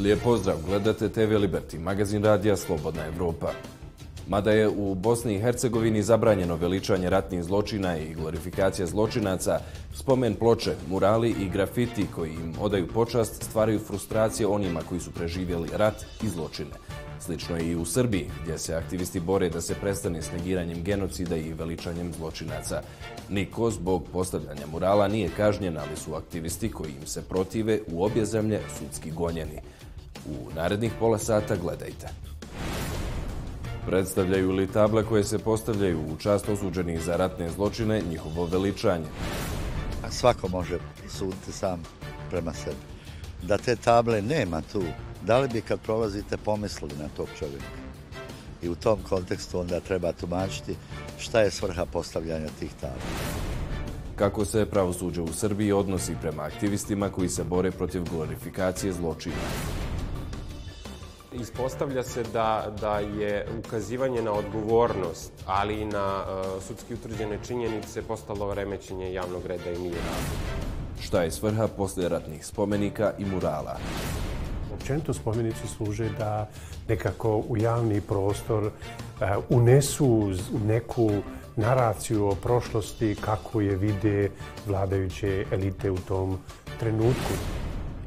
Lijep pozdrav, gledate TV Liberty, magazin radija Slobodna Evropa. Mada je u Bosni i Hercegovini zabranjeno veličanje ratnih zločina i glorifikacija zločinaca, spomen ploče, murali i grafiti koji im odaju počast stvaraju frustracije onima koji su preživjeli rat i zločine. Slično je i u Srbiji, gdje se aktivisti bore da se prestane s negiranjem genocida i veličanjem zločinaca. Niko zbog postavljanja murala nije kažnjen, ali su aktivisti koji im se protive u obje zemlje sudski gonjeni. U narednih pola sata gledajte. Predstavljaju li table koje se postavljaju u čast osuđenih za ratne zločine njihovo veličanje? Svako može suditi sam prema sebi. Da te table nema tu, da li bi kad prolazite pomislili na tog čovjeka? I u tom kontekstu onda treba tumačiti šta je svrha postavljanja tih tabla. Kako se pravosuđe u Srbiji odnosi prema aktivistima koji se bore protiv glorifikacije zločina? Ispostavlja se da je ukazivanje na odgovornost, ali i na sudski utvrđene činjenice postalo remećenje javnog reda i mira. Šta je svrha poslijeratnih spomenika i murala? Općenito spomenici služe da nekako u javni prostor unesu neku naraciju o prošlosti kako je vide vladajuće elite u tom trenutku.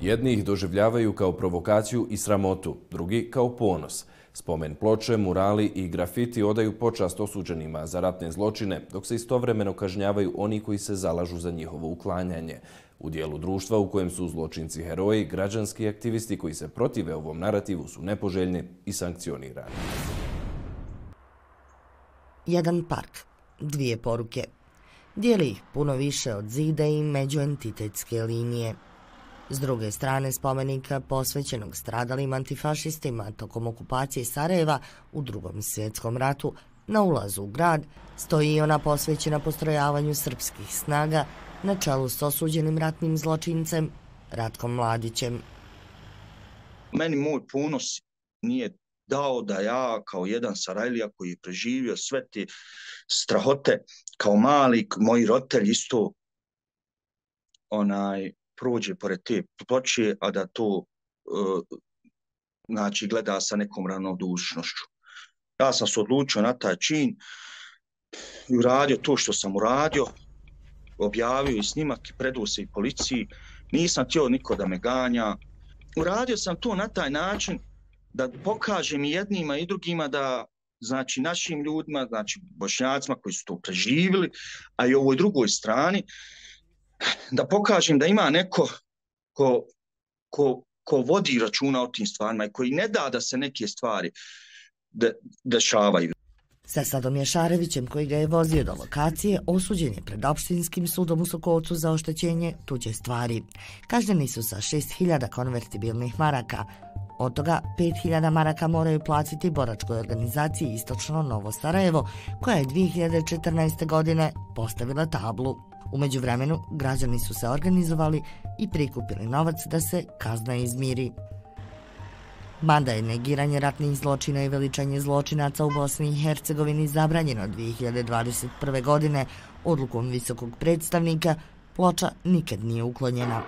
Jedni ih doživljavaju kao provokaciju i sramotu, drugi kao ponos. Spomen ploče, murali i grafiti odaju počast osuđenima za ratne zločine, dok se istovremeno kažnjavaju oni koji se zalažu za njihovo uklanjanje. U dijelu društva u kojem su zločinci heroji, građanski aktivisti koji se protive ovom narativu su nepoželjni i sankcionirani. Jedan park, dvije poruke. Dijeli ih puno više od zida i međuentitetske linije. S druge strane spomenika posvećenog stradalim antifašistima tokom okupacije Sarajeva u Drugom svjetskom ratu, na ulazu u grad stoji i ona posvećena postrojavanju srpskih snaga na čelu s osuđenim ratnim zločincem Ratkom Mladićem. Meni moj ponos nije dao da ja kao jedan Sarajlija koji je preživio sve te strahote kao mali, moji roditelji isto prođe pored te ploče, a da to gleda sa nekom ravnodušnošću. Ja sam se odlučio na taj čin i uradio to što sam uradio, objavio i snimak i predao se i policiji. Nisam htio niko da me ganja. Uradio sam to na taj način da pokažem i jednima i drugima da našim ljudima, Bošnjacima koji su to preživjeli, a i ovoj drugoj strani, da pokažem da ima neko ko vodi računa o tim stvarima i koji ne da se neke stvari dešavaju. Sa Sadom Jašarevićem, koji ga je vozio do lokacije, osuđen je pred opštinskim sudom u Sokolcu za oštećenje tuđe stvari. Kažnjeni su sa 6.000 konvertibilnih maraka. Od toga 5.000 maraka moraju platiti boračkoj organizaciji Istočno Novo Sarajevo, koja je 2014. godine postavila tablu. U međuvremenu, građani su se organizovali i prikupili novac da se kazna izmiri. Mada je negiranje ratnih zločina i veličanje zločinaca u Bosni i Hercegovini zabranjeno 2021. godine odlukom visokog predstavnika, ploča nikad nije uklonjena.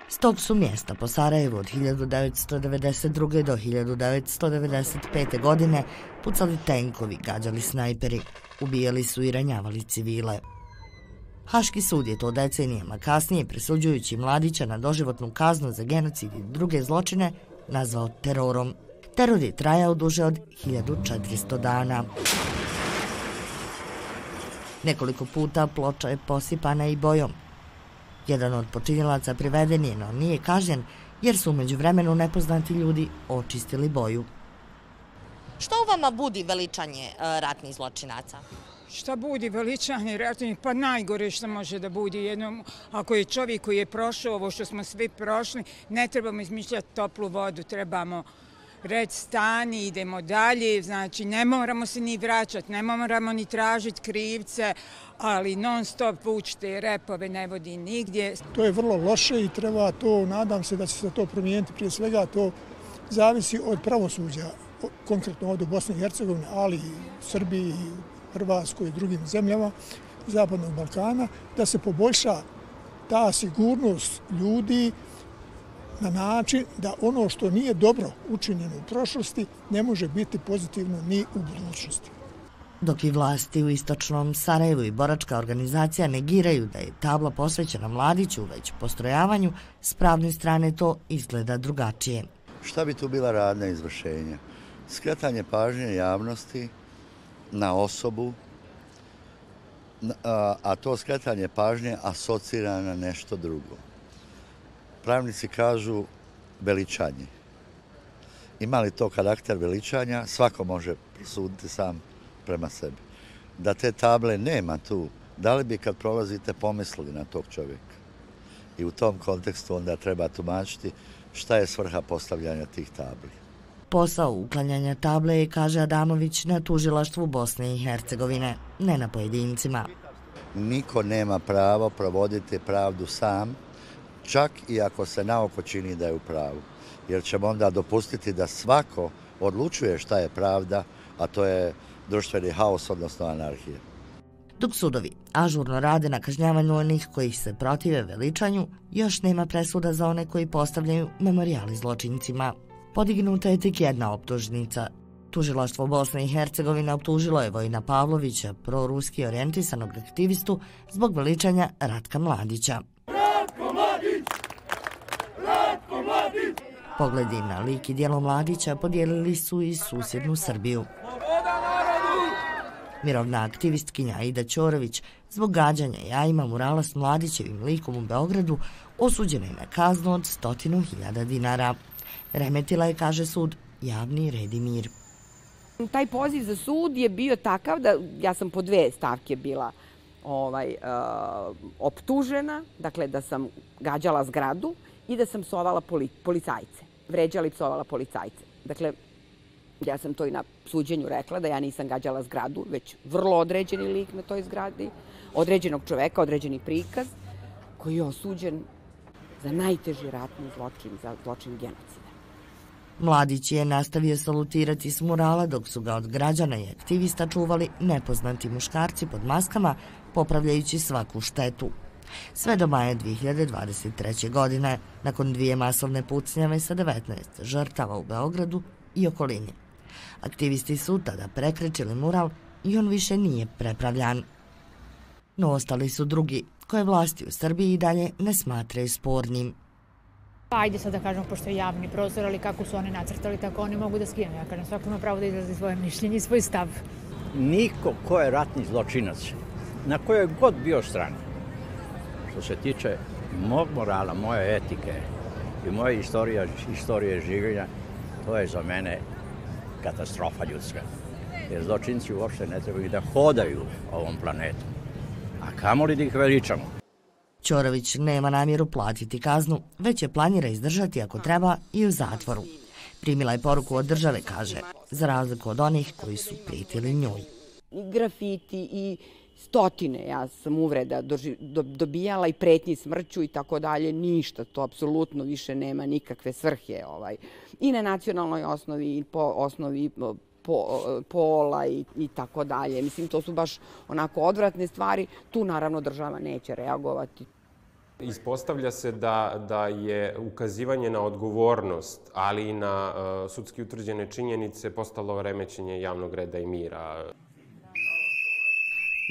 S tog su mjesta po Sarajevu od 1992. do 1995. godine pucali tenkovi, gađali snajperi, ubijali su i ranjavali civile. Haški sud je to decenijama kasnije, presuđujući Mladića na doživotnu kaznu za genocid i druge zločine, nazvao terorom. Teror je trajao duže od 1400 dana. Nekoliko puta ploča je posipana i bojom. Jedan od počinjelaca priveden je, no nije kažnjen, jer su u međuvremenu nepoznati ljudi očistili boju. Što u vama budi veličanje ratnih zločinaca? Šta budi veličanje ratnih? Pa najgore što može da budi jednom. Ako je čovjek koji je prošao ovo što smo svi prošli, ne trebamo izmišljati toplu vodu, trebamo reći stani, idemo dalje, znači ne moramo se ni vraćati, ne moramo ni tražiti krivce, ali non stop vučite repove ne vodi nigdje. To je vrlo loše i treba to, nadam se da će se to promijeniti, prije svega to zavisi od pravosuđa, konkretno ovdje u Bosni i Hercegovini, ali i Srbiji, Hrvatskoj i drugim zemljama Zapadnog Balkana, da se poboljša ta sigurnost ljudi na način da ono što nije dobro učinjeno u prošlosti ne može biti pozitivno ni u budućnosti. Dok i vlasti u istočnom Sarajevu i boračka organizacija negiraju da je tabla posvećena Mladiću već postrojavanju, s pravne strane to izgleda drugačije. Šta bi tu bila radna izvršenja? Skretanje pažnje javnosti na osobu, a to skretanje pažnje asocira na nešto drugo. Pravnici kažu veličanje. Ima li to karakter veličanja? Svako može suditi sam prema sebi. Da te table nema tu, da li bi kad prolazite pomislili na tog čovjeka? I u tom kontekstu onda treba tumačiti šta je svrha postavljanja tih tabli. Posao uklanjanja table je, kaže Adamović, na tužilaštvu Bosne i Hercegovine, ne na pojedincima. Niko nema pravo provoditi pravdu sam, čak i ako se naoko čini da je u pravu. Jer ćemo onda dopustiti da svako odlučuje šta je pravda, a to je društveni haos, odnosno anarhija. Dok sudovi ažurno rade na kažnjavanju onih koji se protive veličanju, još nema presuda za one koji postavljaju memorijali zločincima. Podignuta je tek jedna optužnica. Tužilaštvo Bosne i Hercegovine optužilo je Vojina Pavlovića, proruski orijentisanog aktivistu, zbog veličanja Ratka Mladića. Ratko Mladić! Ratko Mladić! Pogledi na lik i djelo Mladića podijelili su i susjednu Srbiju. Mirovna aktivistkinja Aida Ćorović zbog gađanja jajima murala s Mladićevim likom u Beogradu osuđena je na kaznu od 100.000 dinara. Remetila je, kaže sud, javni red i mir. Taj poziv za sud je bio takav da ja sam po dve stavke bila optužena, dakle da sam gađala zgradu i da sam psovala policajce, vređala i psovala policajce. Dakle, ja sam to i na suđenju rekla, da ja nisam gađala zgradu, već vrlo određeni lik na toj zgradi, određenog čoveka, određeni prikaz, koji je osuđen za najteži ratni zločin, za zločin genocida. Mladić je nastavio salutirati s murala dok su ga od građana i aktivista čuvali nepoznati muškarci pod maskama, popravljajući svaku štetu. Sve do maja 2023. godine, nakon 2 masovne pucnjave sa 19 žrtava u Beogradu i okolini. Aktivisti su tada prekrečili mural i on više nije prepravljan. No ostali su drugi, koje vlasti u Srbiji i dalje ne smatraju spornim. Ajde sad da kažemo, pošto je javni prostor, ali kako su oni nacrtali, tako oni mogu da skinu. Ja kažem, svako ima pravo da izrazi svoje mišljenje i svoj stav. Niko ko je ratni zločinac, na kojoj god bio strani, što se tiče mog morala, moje etike i moje istorije življenja, to je za mene katastrofa ljudska. Jer zločinci uopšte ne trebaju da hodaju ovom planetom, a kamoli da ih veličamo. Ćorović nema namjeru platiti kaznu, već je planira izdržati ako treba i u zatvoru. Primila je poruku od države, kaže, za razliku od onih koji su prijetili njoj. I grafiti i stotine, ja sam uvreda dobijala i pretnji smrću i tako dalje, ništa, to apsolutno više nema nikakve svrhe. I na nacionalnoj osnovi, i po osnovi pola i tako dalje. Mislim, to su baš onako odvratne stvari. Tu naravno država neće reagovati. Ispostavlja se da je ukazivanje na odgovornost, ali i na sudski utvrđene činjenice postalo remećenje javnog reda i mira.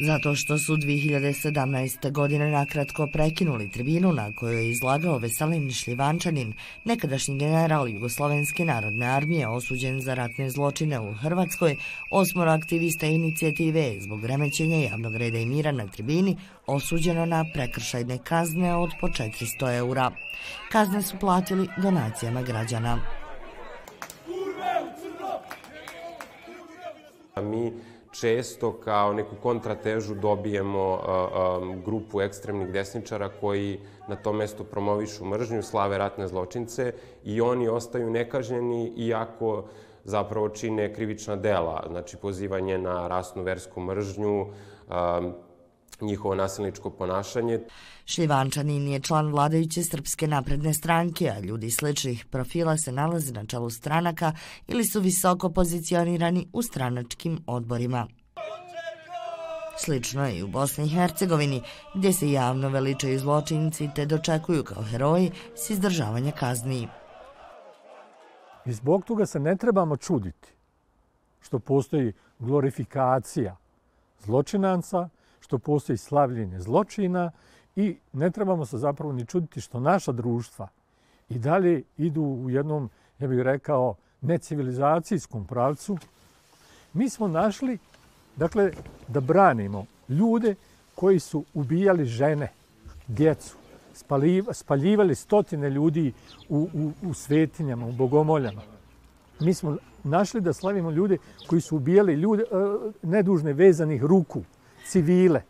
Zato što su 2017. godine nakratko prekinuli tribinu na kojoj je izlagao Veselin Šljivančanin, nekadašnji general Jugoslovenske narodne armije osuđen za ratne zločine u Hrvatskoj, 8 aktivista inicijative zbog remećenja javnog reda i mira na tribini osuđeno na prekršajne kazne od po 400 eura. Kazne su platili donacijama građana. Mi često kao neku kontratežu dobijemo grupu ekstremnih desničara koji na tom mestu promovišu mržnju, slave ratne zločince i oni ostaju nekažnjeni iako zapravo čine krivična dela, znači pozivanje na rasnu, versku mržnju, njihovo nasilničko ponašanje. Šljivančanin je član vladajuće Srpske napredne stranke, a ljudi sličnih profila se nalaze na čelu stranaka ili su visoko pozicionirani u stranačkim odborima. Slično je i u Bosni i Hercegovini, gdje se javno veličaju zločinci te dočekuju kao heroji s izdržavanja kazni. I zbog toga se ne trebamo čuditi što postoji glorifikacija zločinaca, što postoji slavljenje zločina i ne trebamo se zapravo ni čuditi što naša društva i dalje idu u jednom, ja bih rekao, necivilizacijskom pravcu. Mi smo našli, dakle, da branimo ljude koji su ubijali žene, djecu, spaljivali stotine ljudi u svetinjama, u bogomoljama. Mi smo našli da slavimo ljude koji su ubijali ljude nedužne vezanih ruku, civile.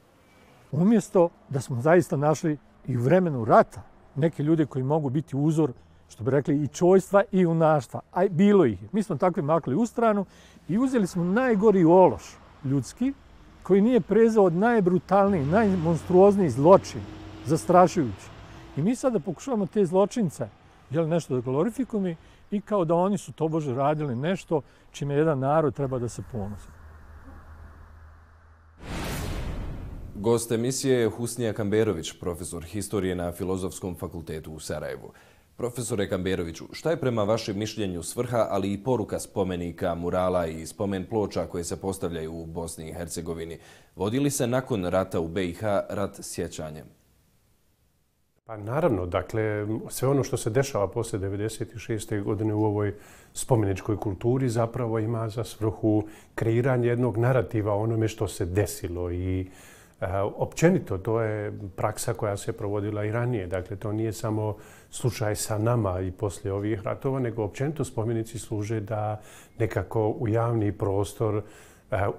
Umjesto da smo zaista našli i u vremenu rata neke ljude koji mogu biti uzor, što bi rekli, i čojstva i junaštva. A bilo ih. Mi smo takvi makli u stranu i uzeli smo najgori ološ ljudski, koji nije prezao od najbrutalniji, najmonstruozniji zločin, zastrašujući. I mi sada pokušavamo te zločince nešto da glorifikujemo i kao da oni su tobože radili nešto čime jedan narod treba da se ponosi. Gost emisije je Husnija Kamberović, profesor historije na Filozofskom fakultetu u Sarajevu. Profesore Kamberoviću, šta je prema vašem mišljenju svrha, ali i poruka spomenika, murala i spomen ploča koje se postavljaju u Bosni i Hercegovini? Vodi li se nakon rata u BiH rat sjećanjem? Pa naravno, dakle, sve ono što se dešava posle 1996. godine u ovoj spomeničkoj kulturi zapravo ima za svrhu kreiranje jednog narativa o onome što se desilo i općenito to je praksa koja se provodila i ranije. Dakle, to nije samo slučaj sa nama i poslije ovih ratova, nego općenito spomenici služe da nekako u javni prostor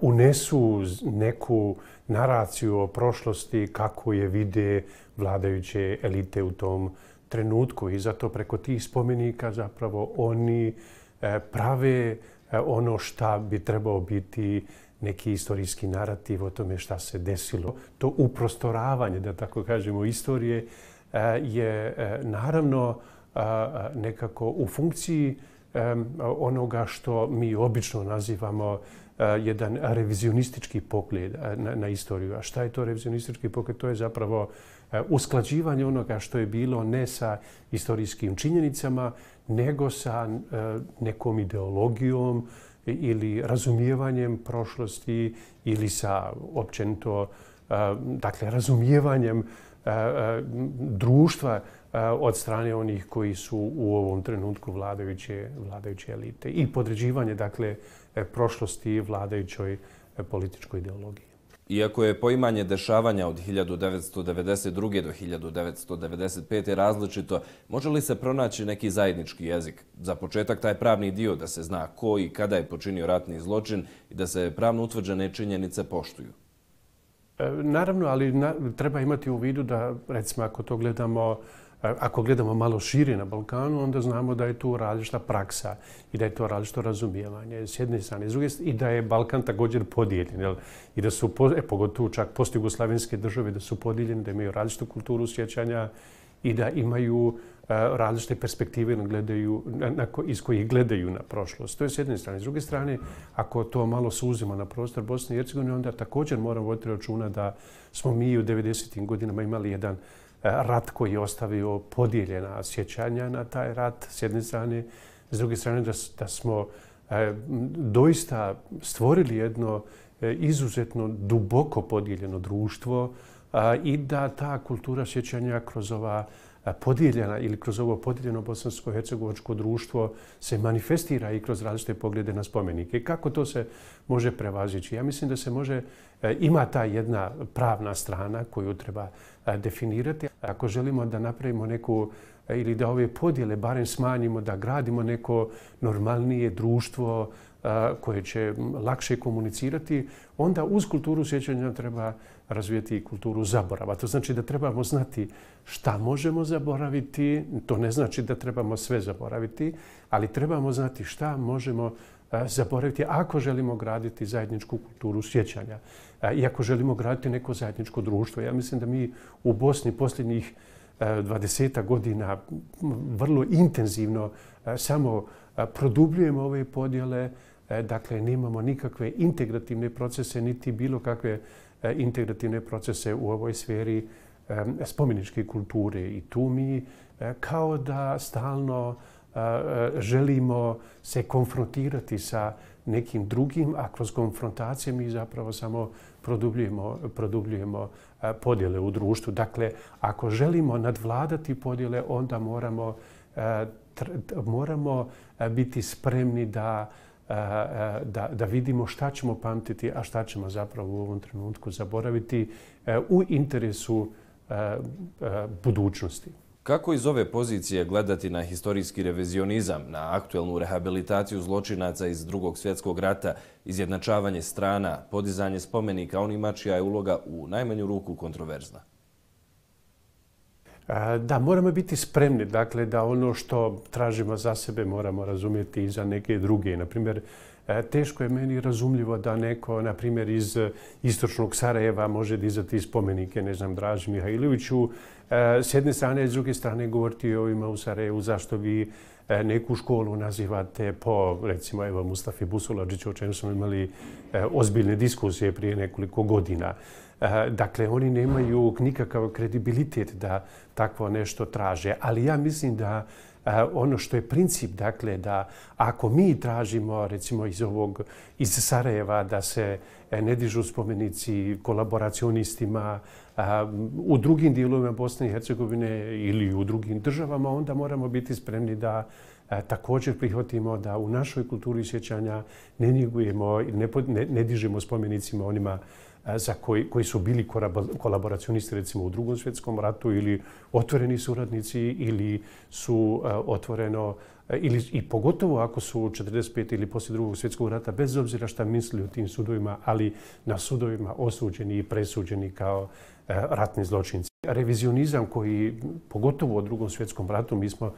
unesu neku naraciju o prošlosti kako je vide vladajuće elite u tom trenutku. I zato preko tih spomenika zapravo oni prave ono šta bi trebao biti neki istorijski narativ o tome šta se desilo. To uprostoravanje, da tako kažemo, istorije je naravno nekako u funkciji onoga što mi obično nazivamo jedan revizionistički pogled na istoriju. A šta je to revizionistički pogled? To je zapravo usklađivanje onoga što je bilo ne sa istorijskim činjenicama, nego sa nekom ideologijom ili razumijevanjem prošlosti ili sa općenito razumijevanjem društva od strane onih koji su u ovom trenutku vladajuće elite i podređivanje prošlosti vladajućoj političkoj ideologiji. Iako je poimanje dešavanja od 1992. do 1995. različito, može li se pronaći neki zajednički jezik? Za početak taj pravni dio da se zna ko i kada je počinio ratni zločin i da se pravno utvrđene činjenice poštuju. Naravno, ali treba imati u vidu da, recimo, ako gledamo malo šire na Balkanu, onda znamo da je tu različita praksa i da je to različito razumijevanje s jedne strane. S druge strane, i da je Balkan također podijeljen. I da su, pogotovo čak postjugoslavenske države, da su podijeljene, da imaju različitu kulturu sjećanja i da imaju različite perspektive iz kojih gledaju na prošlost. To je s jedne strane. S druge strane, ako to malo suzimo na prostor Bosne i Hercegovine, onda također moramo voditi računa da smo mi u 90. godinama imali jedan rat koji je ostavio podijeljena sjećanja na taj rat s jedne strane. S druge strane, da smo doista stvorili jedno izuzetno duboko podijeljeno društvo i da ta kultura sjećanja kroz ova podijeljena ili kroz ovo podijeljeno bosansko-hercegovačko društvo se manifestira i kroz različite poglede na spomenike. Kako to se može prevazići? Ja mislim da se može, ima ta jedna pravna strana koju treba definirati. Ako želimo da napravimo neku ili da ove podjele barem smanjimo, da gradimo neko normalnije društvo koje će lakše komunicirati, onda uz kulturu sjećanja treba razvijeti i kulturu zaborava. To znači da trebamo znati šta možemo zaboraviti, to ne znači da trebamo sve zaboraviti, ali trebamo znati šta možemo zaboraviti ako želimo graditi zajedničku kulturu sjećanja i ako želimo graditi neko zajedničko društvo. Ja mislim da mi u Bosni posljednjih 20 godina vrlo intenzivno samo produbljujemo ove podjele, dakle nemamo nikakve integrativne procese niti bilo kakve integrativne procese u ovoj sferi spomeničke kulture. I tu mi kao da stalno želimo se konfrontirati sa nekim drugim, a kroz konfrontacije mi zapravo samo produbljujemo podjele u društvu. Dakle, ako želimo nadvladati podjele, onda moramo biti spremni da vidimo šta ćemo pamtiti, a šta ćemo zapravo u ovom trenutku zaboraviti u interesu budućnosti. Kako iz ove pozicije gledati na historijski revizionizam, na aktuelnu rehabilitaciju zločinaca iz Drugog svjetskog rata, izjednačavanje strana, podizanje spomenika onima čija je uloga u najmanju ruku kontroverzna? Da, moramo biti spremni, dakle, da ono što tražimo za sebe moramo razumjeti i za neke druge. Naprimjer, teško je meni razumljivo da neko, na primjer, iz istočnog Sarajeva može dizati spomenike, ne znam, Draži Mihajloviću. S jedne strane, s druge strane govoriti o ovima u Sarajevu, zašto vi neku školu nazivate po, recimo, evo, Mustafi Busuladžiću, o čemu smo imali ozbiljne diskusije prije nekoliko godina. Dakle, oni nemaju nikakav kredibilitet da takvo nešto traže. Ali ja mislim da ono što je princip, dakle, da ako mi tražimo, recimo, iz Sarajeva da se ne dižu spomenici kolaboracionistima u drugim dijelovima Bosne i Hercegovine ili u drugim državama, onda moramo biti spremni da također prihvatimo da u našoj kulturi sjećanja ne njegujemo, ne dižemo spomenicima onima koji su bili kolaboracionisti, recimo, u Drugom svjetskom ratu ili otvoreni suradnici ili su otvoreno, i pogotovo ako su 45. ili poslije Drugog svjetskog rata, bez obzira šta misli o tim sudovima, ali na sudovima osuđeni i presuđeni kao ratni zločinci. Revizionizam koji, pogotovo u Drugom svjetskom ratu, mi smo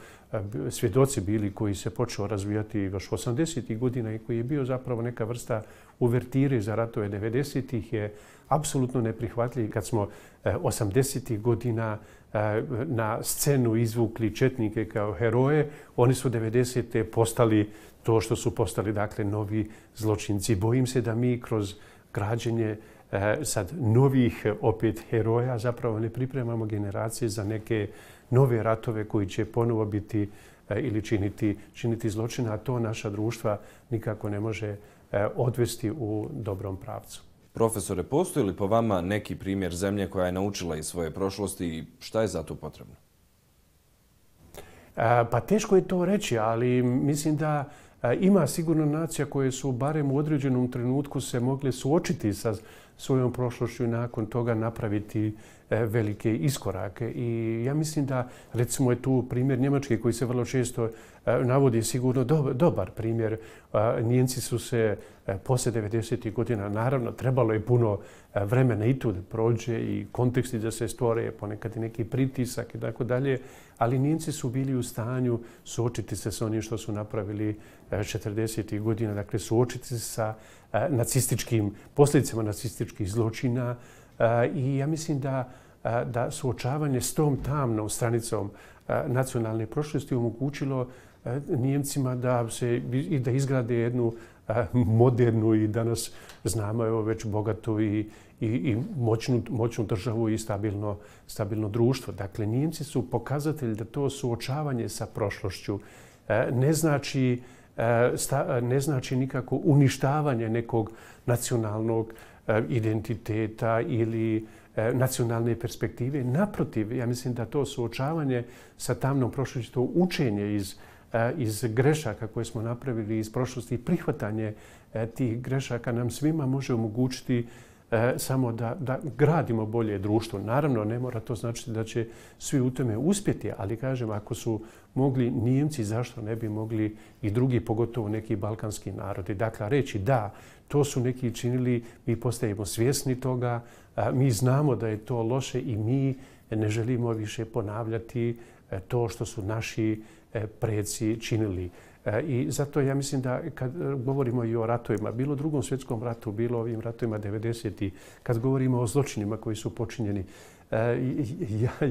svjedoci bili, koji se počeo razvijati još 80. godina i koji je bio zapravo neka vrsta uvertire za ratove 90. je apsolutno neprihvatljiv. Kad smo 80. godina na scenu izvukli četnike kao heroje, oni su 90. postali to što su postali, dakle, novi zločinci. Bojim se da mi kroz građenje sad novih opet heroja zapravo ne pripremamo generacije za neke nove ratove koji će ponovo biti ili činiti zločina, a to naša društva nikako ne može odvesti u dobrom pravcu. Profesore, postoji li po vama neki primjer zemlje koja je naučila iz svoje prošlosti i šta je za to potrebno? Pa teško je to reći, ali mislim da ima sigurno nacija koje su barem u određenom trenutku se mogle suočiti sa svojom prošlošću i nakon toga napraviti velike iskorake. I ja mislim da, recimo, je tu primjer Njemačke koji se vrlo često navodi, sigurno dobar primjer. Nijemci su se poslije 90. godina, naravno, trebalo je puno vremena i tu da prođe i konteksti da se stvore, ponekad i neki pritisak i tako dalje, ali Nijemci su bili u stanju suočiti se s onim što su napravili 40. godina, dakle suočiti se sa posljedicama nacističkih zločina i ja mislim da suočavanje s tom tamnom stranicom nacionalne prošlosti omogućilo Nijemcima da izgrade jednu modernu i danas znamo evo već bogatu i moćnu državu i stabilno društvo. Dakle, Nijemci su pokazatelj da to suočavanje sa prošlošću ne znači nikako uništavanje nekog nacionalnog identiteta ili nacionalne perspektive. Naprotiv, ja mislim da to suočavanje sa tamnom prošlošću, to učenje iz grešaka koje smo napravili iz prošlosti i prihvatanje tih grešaka nam svima može omogućiti samo da gradimo bolje društvo. Naravno, ne mora to značiti da će svi u tome uspjeti, ali kažem, ako su mogli Nijemci, zašto ne bi mogli i drugi, pogotovo neki balkanski narodi. Dakle, reći da, to su neki činili, mi postajemo svjesni toga, mi znamo da je to loše i mi ne želimo više ponavljati to što su naši preci činili. I zato ja mislim da kad govorimo i o ratovima, bilo u Drugom svjetskom ratu, bilo ovim ratovima 90. kad govorimo o zločinima koji su počinjeni,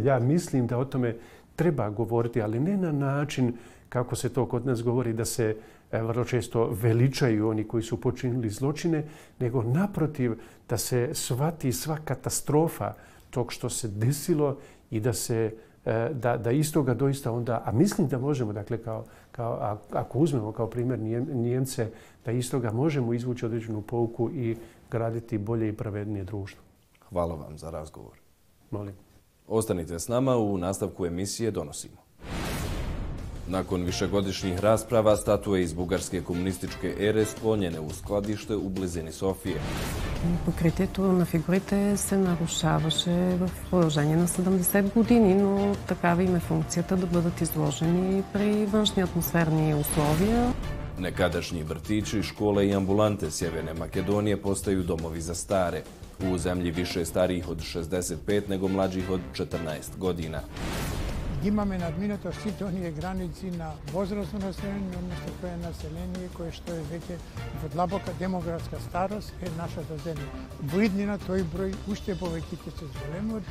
ja mislim da o tome treba govoriti, ali ne na način kako se to kod nas govori, da se vrlo često veličaju oni koji su počinili zločine, nego naprotiv da se shvati sva katastrofa tog što se desilo i da iz toga doista onda, a mislim da možemo, dakle, ako uzmemo kao primjer Nijemce, da iz toga možemo izvući određenu pouku i graditi bolje i pravednije društvo. Hvala vam za razgovor. Molim. Ostanite s nama, u nastavku emisije donosimo. Nakon višegodišnjih rasprava, statue iz bugarske komunističke ere sklonjene u skladište u blizini Софije. Покритието на фигурите се нарушаваше в продължение на 70 години, но такава им е функцията да бъдат изложени при външни атмосферни условия. Nekadašnji vrtići, škole i ambulante Sjeverne Makedonije postaju domovi za stare. U zemlji više starijih od 65 nego mlađih od 14 godina. Imаме надминато сите оние граници на возрастно население, односно кое население кое што е веќе во длабока демографска старост е нашата земја. Во иднина тој број уште повеќе ќе се зголеми.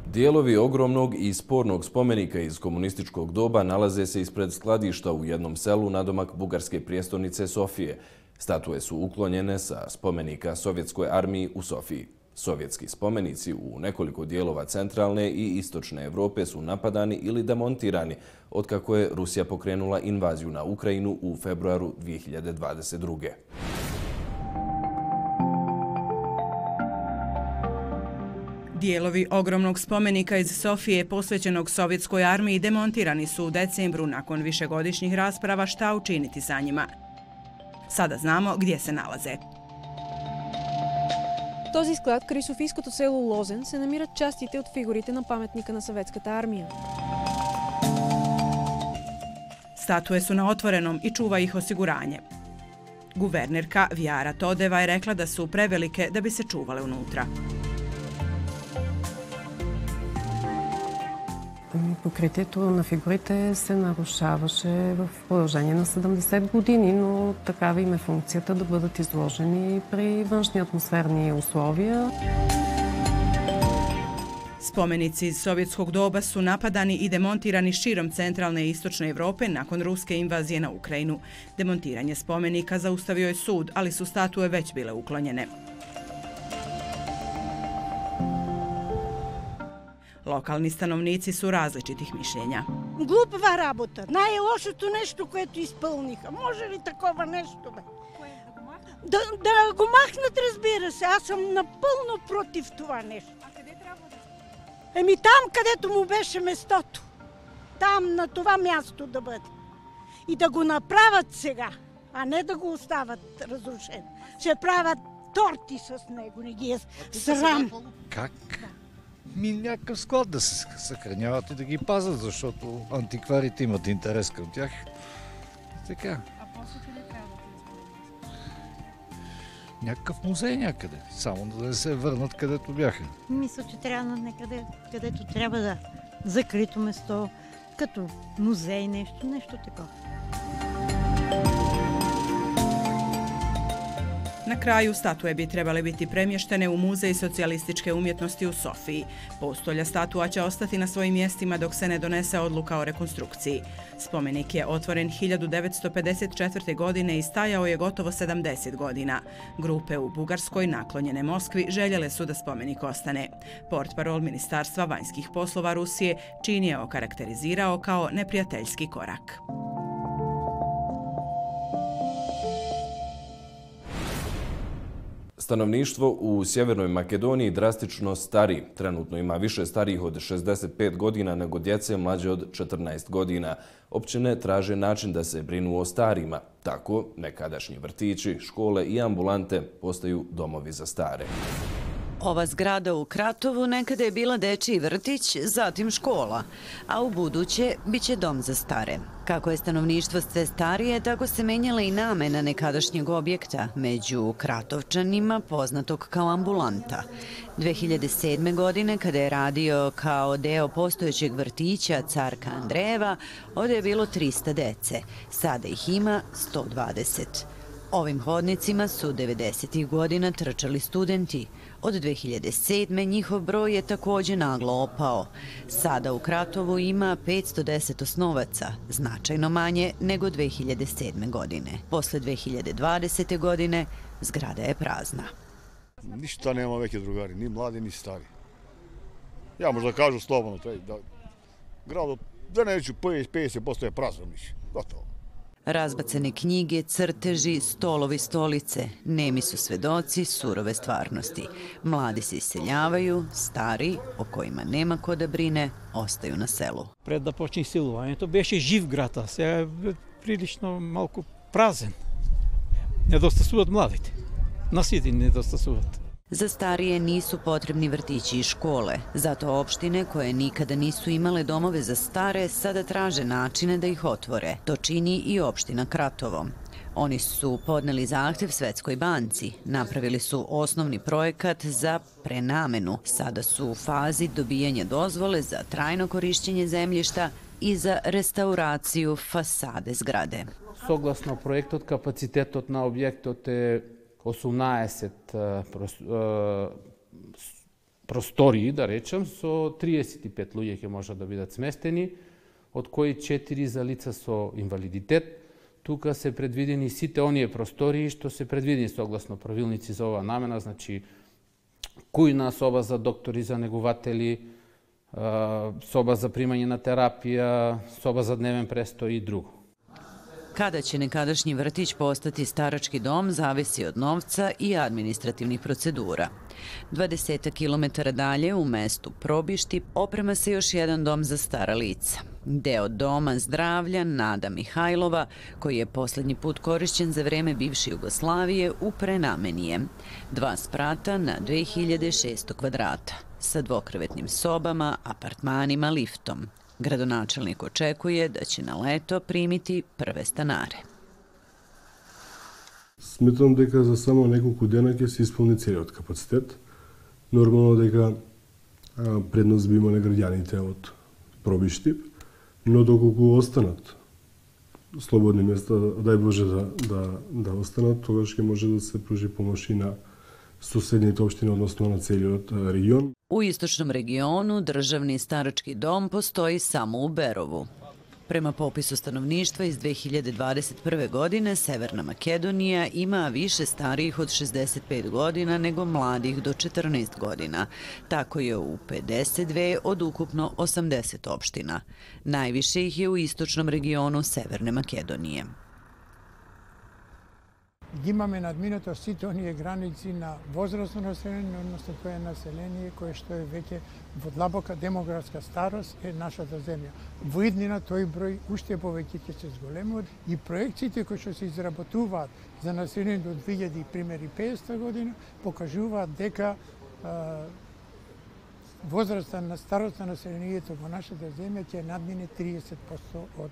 Dijelovi ogromnog i spornog spomenika iz komunističkog doba nalaze se ispred skladišta u jednom selu nadomak bugarske prijestolnice Sofije. Statue su uklonjene sa spomenika Sovjetskoj armiji u Sofiji. Sovjetski spomenici u nekoliko dijelova centralne i istočne Evrope su napadani ili demontirani otkako je Rusija pokrenula invaziju na Ukrajinu u februaru 2022. Dijelovi ogromnog spomenika iz Sofije posvećenog Sovjetskoj armiji demontirani su u decembru nakon višegodišnjih rasprava šta učiniti sa njima. Sada znamo gdje se nalaze. В този склад край софийското село Лозен се намират частите от фигурите на паметника на Съветската армия. Statue su na otvorenom i čuva ih osiguranje. Guvernerka Vjara Todeva je rekla da su prevelike da bi se čuvale unutra. Покритието на фигурите се нарушаваше в продължение на 70 години, но такава им е функцията да бъдат изложени при външни атмосферни условия. Spomenici iz sovjetskog doba su napadani i demontirani širom centralne i istočne Evrope nakon ruske invazije na Ukrajinu. Demontiranje spomenika zaustavio je sud, ali su statue već bile uklonjene. Lokalni stanovnici su različitih mišljenja. Глупава работа. Най-лошото нещо, което изпълниха. Може ли такова нещо, бе? Да го махнат, разбира се. Аз съм напълно против това нещо. А къде трябва да? Еми там, където му беше местото. Там, на това място да бъде. И да го направят сега, а не да го остават разрушено. Ще правят торти с него, не ги е срам. Как? Някакъв склад да се съхраняват и да ги пазят, защото антикварите имат интерес към тях. Така. А после къде трябва да ти изпълнят? Някакъв музей някъде, само да не се върнат където бяха. Мисля, че трябва на някъде, където трябва да закрито место, като музей, нещо такова. Na kraju, statue bi trebale biti premještene u Muzej socijalističke umjetnosti u Sofiji. Postolja statua će ostati na svojim mjestima dok se ne donese odluka o rekonstrukciji. Spomenik je otvoren 1954. godine i stajao je gotovo 70 godina. Grupe u Bugarskoj naklonjene Moskvi željele su da spomenik ostane. Portparol Ministarstva vanjskih poslova Rusije čin je okarakterizirao kao neprijateljski korak. Stanovništvo u Sjevernoj Makedoniji drastično stari. Trenutno ima više starijih od 65 godina nego djece mlađe od 14 godina. Općine traže način da se brinu o starima. Tako, nekadašnji vrtići, škole i ambulante postaju domovi za stare. Ova zgrada u Kratovu nekada je bila dečiji vrtić, zatim škola, a u buduće biće dom za stare. Kako je stanovništvo sve starije, tako se menjala i namena nekadašnjeg objekta, među Kratovčanima poznatog kao ambulanta. 2007. godine, kada je radio kao deo postojećeg vrtića Carka Andrejeva, ovdje je bilo 300 dece. Sada ih ima 120. Ovim hodnicima su 90. godina trčali studenti. Od 2007. njihov broj je također naglo opao. Sada u Kratovu ima 510 osnovaca, značajno manje nego 2007. godine. Posle 2020. godine zgrada je prazna. Ništa nema veke drugari, ni mladi, ni stari. Ja možda kažu slobodno, da grad da neću 50% je prazno više, gotovo. Razbacane knjige, crteži, stolovi, stolice, nemi su svedoci surove stvarnosti. Mladi se iseljavaju, stari, o kojima nema ko da brine, ostaju na selu. Пред да почне изселувањето беше жив град, а сега е прилично малку празен. Недостасуваат младите. Насити недостасуваат. Za starije nisu potrebni vrtići i škole, zato opštine koje nikada nisu imale domove za stare sada traže načine da ih otvore. To čini i opština Kratovo. Oni su podneli zahtev Svetskoj banci, napravili su osnovni projekat za prenamenu. Sada su u fazi dobijanja dozvole za trajno korišćenje zemljišta i za restauraciju fasade zgrade. Согласно проектот, капацитетот на објектот е 18 простории, да речем, со 35 луѓе ќе можат да бидат сместени, од кои 4 за лица со инвалидитет. Тука се предвидени сите оние простории што се предвидени согласно правилници за оваа намена, значи кујна, соба за доктори, за негуватели, соба за примање на терапија, соба за дневен престој и друго. Kada će nekadašnji vrtić postati starački dom zavisi od novca i administrativnih procedura. 20 kilometara dalje u mestu Probišti oprema se još jedan dom za stara lica. Deo doma zdravlja Nada Mihajlova, koji je posljednji put korišćen za vreme bivše Jugoslavije, u prenameni je. 2 sprata na 2600 kvadrata, sa dvokrevetnim sobama, apartmanima, liftom. Gradonačelnik očekuje da će na leto primiti prve stanare. Сметам дека за само неколку дена ќе се исполни целиот капацитет. Нормално дека предност би имале граѓаните од Пробишти, но доколку останат слободни места, дај Боже да останат, тогаш ќе може да се пружи помош и на susednite opštine, odnosno na celiot region. U istočnom regionu državni starački dom postoji samo u Berovu. Prema popisu stanovništva iz 2021. godine, Severna Makedonija ima više starijih od 65 godina nego mladih do 14 godina. Tako je u 52 od ukupno 80 opština. Najviše ih je u istočnom regionu Severne Makedonije. Imаме надминато сите оние граници на возрастно население, односно тоа е население кое што е веќе во длабока демографска старост е нашата земја. Во иднина тој број уште повеќе ќе се зголемува и проекциите кои што се изработуваат за население до 2050 година покажуваат дека возраста на старост на населението во нашата земја ќе надмине 30% од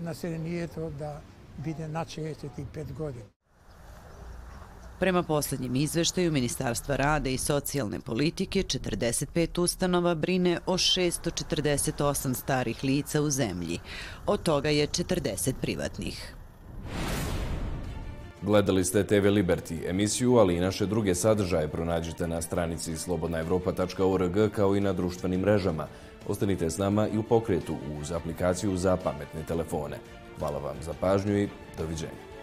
населението да биде над 65 godina. Prema posljednjem izveštaju Ministarstva rada i socijalne politike, 45 ustanova brine o 648 starih lica u zemlji. Od toga je 40 privatnih. Gledali ste TV Liberty emisiju, ali i naše druge sadržaje pronađite na stranici slobodnaevropa.org kao i na društvenim mrežama. Ostanite s nama i u pokretu uz aplikaciju za pametne telefone. Hvala vam za pažnju i doviđenja.